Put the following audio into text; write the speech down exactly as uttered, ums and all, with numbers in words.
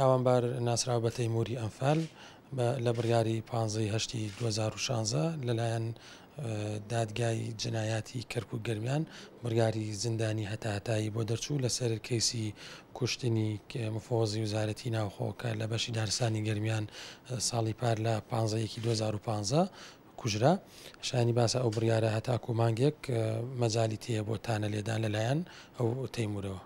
تاوانبار ناسراو بە تەیموری ئەنفال لە بڕیاری پانزەی هەشتی دوو هەزار و شانزە لەلایەن دادگای جنایاتی کەرکوک گەرمیان بڕیاری زیندانی هەتاهەتایی بۆ دەرچوو لەسەر کەیسی کوشتنی مفەوەزی وەزارەتی ناوخۆ کە لە بەشی دارستانی گەرمیان ساڵی پار لە پانزە یەکی دوو هەزار و پانزە کوژرا. شایانی باسە ئەو بڕیارە هەتاکو مانگێک مەجالی تێیە بۆ تانە لێدان لەلایەن ئەو تەیمورەوە.